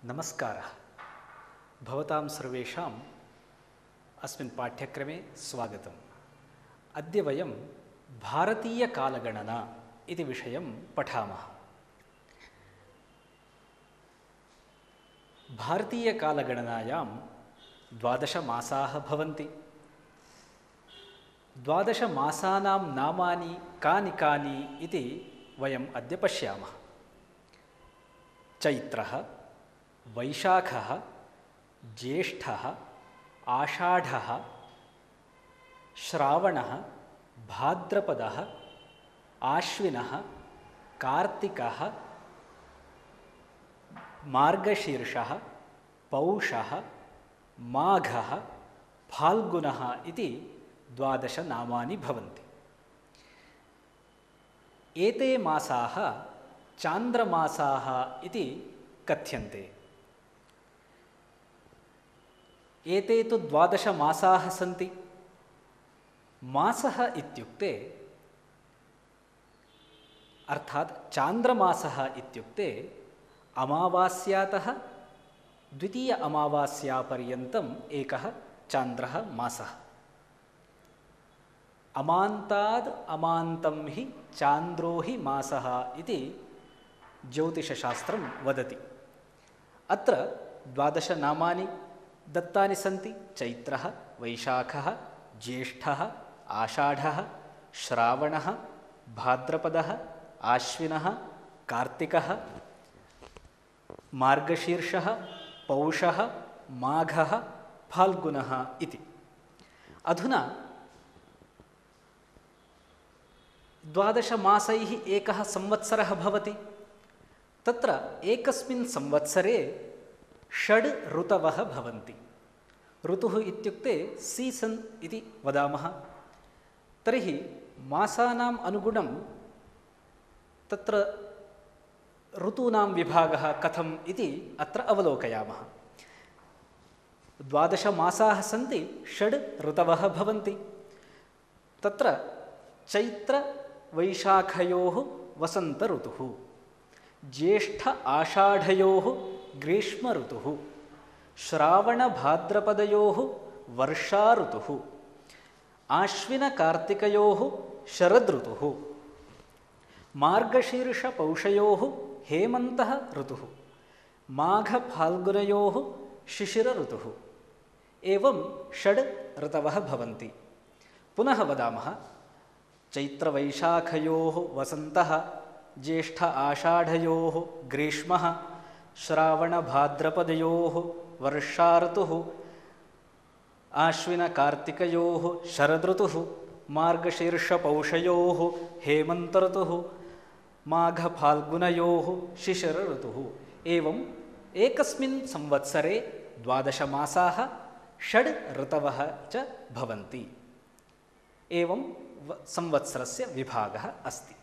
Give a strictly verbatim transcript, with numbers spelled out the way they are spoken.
नमस्कारः। भवतां सर्वेषाम् अस्मिन् पाठ्यक्रमे स्वागतम्। अद्य वयं भारतीयकालगणना इति विषयं पठामः। भारतीयकालगणनायां द्वादशमासाः भवन्ति। द्वादशमासानां नामानि कानि कानि इति वयम् अद्य पश्यामः। चैत्रः, वैशाखः, ज्येष्ठः, आषाढः, श्रावणः, भाद्रपदः, आश्विनः, कार्तिकः, मार्गशीर्षः, पौषः, माघः, फाल्गुनः इति द्वादश नामानि भवन्ति। एते मासाः चान्द्रमासाः इति कथ्यन्ते। एते तु द्वादशमासाः सन्ति। मासः इत्युक्ते अर्थात् चान्द्रमासः इत्युक्ते अमावास्यातः द्वितीय अमावास्यापर्यन्तम् एकः चान्द्रः मासः। अमान्ताद् अमान्तं हि चान्द्रो हि मासः इति ज्योतिषशास्त्रं वदति। अत्र द्वादशनामानि दत्तानि सन्ति। चैत्रः, वैशाखः, ज्येष्ठः, आषाढः, श्रावणः, भाद्रपदः, आश्विनः, कार्तिकः, मार्गशीर्षः, पौषः, माघः, फाल्गुनः इति। अधुना द्वादशमासैः एकः संवत्सरः भवति। तत्र एकस्मिन् संवत्सरे षड् ऋतवः भवन्ति। ऋतुः इत्युक्ते सीसन् इति वदामः। तर्हि मासानाम् अनुगुणं तत्र ऋतूनां विभागः कथम् इति अत्र अवलोकयामः। द्वादशमासाः सन्ति, षड् ऋतवः भवन्ति। तत्र चैत्रवैशाखयोः वसन्त ऋतुः, ज्येष्ठ आषाढयोः ग्रीष्म ऋतुः, श्रावणभाद्रपदयोः वर्षा ऋतुः, आश्विनकार्तिकयोः शरद ऋतुः, मार्गशीर्षपौषयोः हेमन्तः ऋतुः, माघफाल्गुनयोः शिशिर ऋतुः। एवं षड् ऋतवः भवन्ति। पुनः वदामः। चैत्रवैशाखयोः वसन्तः, ज्येष्ठ आषाढयोः ग्रीष्मः, श्रावणभाद्रपदयोः वर्षा ऋतुः, आश्विनकार्तिकयोः शरदृतुः, मार्गशीर्षपौषयोः हेमन्त ऋतुः, माघफाल्गुनयोः शिशिर ऋतुः। एवम् एकस्मिन् संवत्सरे द्वादशमासाः, षड् ऋतवः च भवन्ति। एवं संवत्सरस्य विभागः अस्ति।